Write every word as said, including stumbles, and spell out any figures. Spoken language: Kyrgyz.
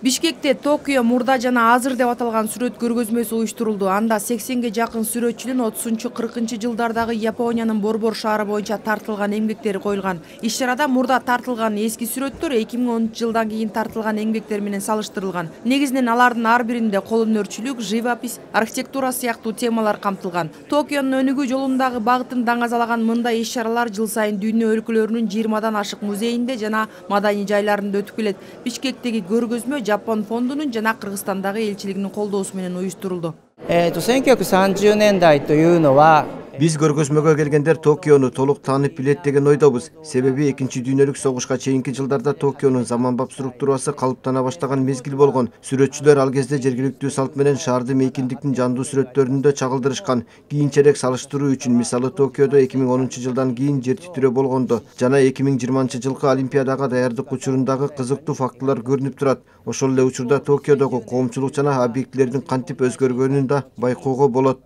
Бишкекте Токио мурда жана азыр деп аталган сүрөт көргөзмөсү уюштурулду. Анда сексенге жакын сүрөтчүнүн отузунчу кыркынчы жылдардагы Япониянын борбор шаары боюнча тартылган эмгектери коюлган. Иш-чарада мурда тартылган эски сүрөттөр эки миң онунчу жылдан кийин тартылган эмгектер менен салыштырылган. Негизинен алардын ар биринде кол өнөрчүлүк, живопись, архитектура сыяктуу темалар камтылган. Токионун өнүгүү жолундагы багытын даңазалаган мындай иш-чаралар жыл сайын дүйнө өлкөлөрүнүн жыйырмадан ашык музейинде жана маданий жайларында өтүп келет. Бишкектеги көргөзмө Жапон фондунун жана Кыргызстандагы элчилигинин колдоосу менен уюштурулду. Биз көргөзмөгө келгендер Токиону толук таанып билет деген ойдобуз. Себеби экинчи дүйнөлүк согушка чейинки жылдарда Токионун заманбап структурасы калыптана баштаган мезгил болгон. Сүрөтчүлөр ал кезде жергиликтүү салт менен шаарды мейкиндиктин жандуу сүрөттөрүндө чагылдырышкан. Кийинчерээк салыштыруу үчүн мисалы Токиодо эки миң онунчу жылдан кийин жер титирөө болгондо жана эки миң жыйырманчы жылкы Олимпиадага даярдык учурундагы кызыктуу фактылар көрүнүп турат. Ошол эле учурда Токиодогу коомчулук жана объектилердин кантип өзгөргөнүн да байкоого болот.